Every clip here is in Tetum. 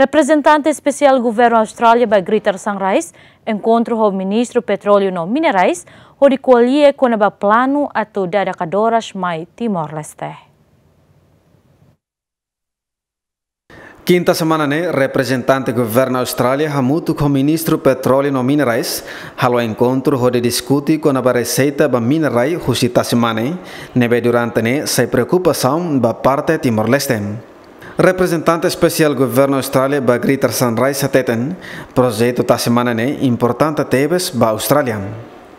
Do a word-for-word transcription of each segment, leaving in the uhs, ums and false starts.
Reprezentante Espesiál Governu Austrália ba Greater Sunrise enkontru ho Ministru Petróleu no Minerais, hodi ko'alia kona-ba planu atu dada kadoras mai Timor-Leste. Kinta semana ne'e, reprezentante Governu Austrália hamutuk ho Ministru Petróleu no Minerais halo enkontru hodi diskute kona-ba reseita ba mina-rai husi tasi-mane, ne'ebé durante ne'e sai preokupasaun ba parte Timor-Leste. Reprezentante Espesiál Governu Austrália ba Greater Sunrise hateten, projetu tasi-mane ne'e importante tebes ba Austrália.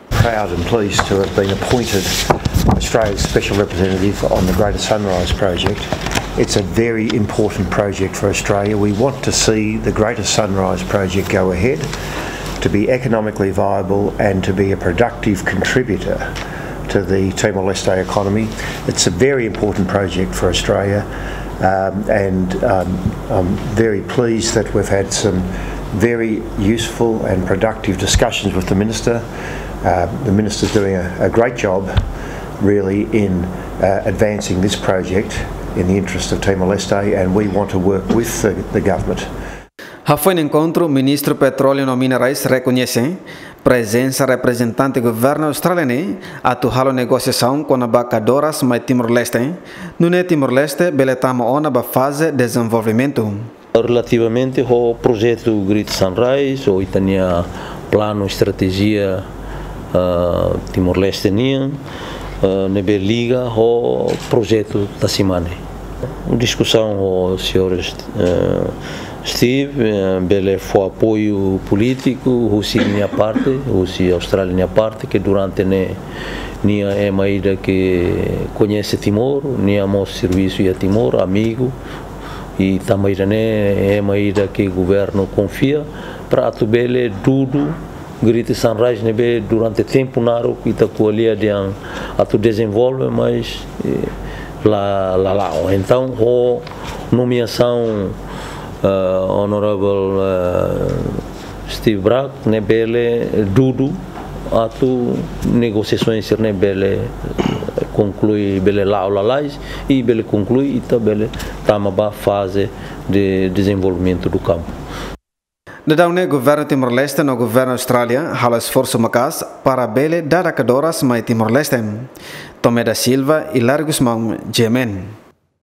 Proud and pleased to have been appointed Australia's Special Representative on the Greater Sunrise Project. It's a very important project for Australia. We want to see the Greater Sunrise Project go ahead, to be economically viable and to be a productive contributor to the Timor-Leste economy. It's a very important project for Australia, um, and um, I'm very pleased that we've had some very useful and productive discussions with the Minister. Uh, the Minister's doing a, a great job, really, in uh, advancing this project in the interest of Timor-Leste, and we want to work with the, the government. Hafoin enkontru, Ministru Petróleu no Minerais rekoñese prezensa reprezentante Governu Austrália ne'e atu halo negosiasaun kona-ba kadoras mai Timor-Leste, nune'e Timor-Leste bele tama ona ba faze dezenvolvimentu. Relativamente ho projetu Greater Sunrise, ho ita-nia planu estratéjia, ah, Timor-Leste nian, ah, ne'ebé liga ho projetu tasi-mane. Diskusaun ho señór, eh, Steve, eh, bele fó apoiu polítiku husi nia parte, husi Austrália nia parte, ke durante ne'e nia ema ida ke koñese Timor, nia mós servisu iha Timor, amigu, i tanba ida ne'e ema ida ke governu konfia, para atu bele dudu Greater Sunrise ne'ebé durante tempu naruk ita ko'alia dehan atu dezenvolve, mas, eh, la, la la'o. Entaun, ho nomeasaun, eh, Honorable, eh, Steve Bragg, ne'e bele dudu atu negosiasaun sira-ne'e bele, eh, konklui, bele la'o lalais, i bele konklui, ita bele tama ba faze de dezenvolvimentu do kampu. Daudaun ne'e Governu Timor-Leste no Governu Austrália halo esforsu maka'as para bele dada kadoras mai Timor-Leste. Tomé da Silva, Hilário Gusmão, G M N.